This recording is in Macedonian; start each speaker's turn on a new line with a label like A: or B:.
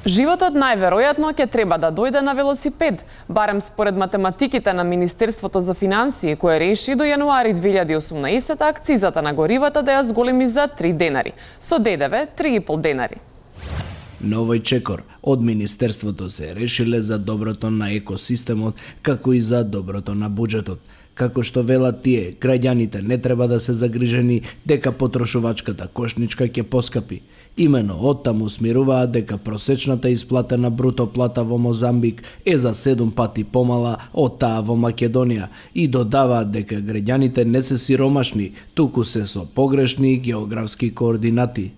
A: Животот најверојатно ќе треба да дојде на велосипед, барем според математиките на Министерството за финансии, кое реши до јануари 2018 акцизата на горивата да ја зголеми за 3 денари, со ДДВ 3,5 денари.
B: Новој чекор од Министерството се решиле за доброто на екосистемот, како и за доброто на буџетот. Како што велат тие, граѓаните не треба да се загрижени дека потрошувачката кошничка ќе поскапи. Имено оттаму смируваат дека просечната исплатена бруто плата во Мозамбик е за 7 пати помала од таа во Македонија и додаваат дека граѓаните не се сиромашни, туку се со погрешни географски координати.